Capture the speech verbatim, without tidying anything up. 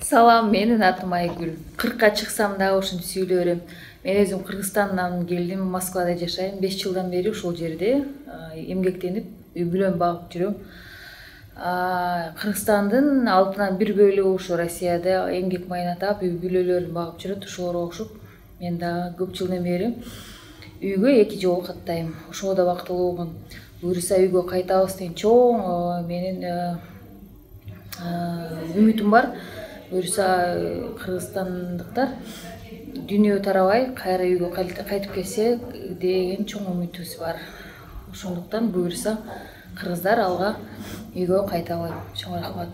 Салам, менин атым Айгүл. кыркка чыксам дагы ушинтип сүйлөй берем. Мен өзүм Кыргызстандан келдим, Москвада жашайм. беш жылдан бери ушул жерде эмгектенип, үй бүлөм багып жүрөм. Кыргызстандын алтынан бир бөлүгү ушу Россияда эмгек майына таап, үй бүлөлөрүн багып жүрөт. Ошолорго окшоп, мен дагы көп жылдан бери үйгө эки жолу каттайм. Ошого да бактылуумун. Буюрса үйгө кайтабыз деген чоң менин үмүтүм бар. Буюрса кыргызстандыктар дүйнө тарабай кайра үйгө кайтып келсе деген чоң үмүтүбүз бар. Ошондуктан буюрса кыргыздар алга үйгө кайталы. Чоң рахмат.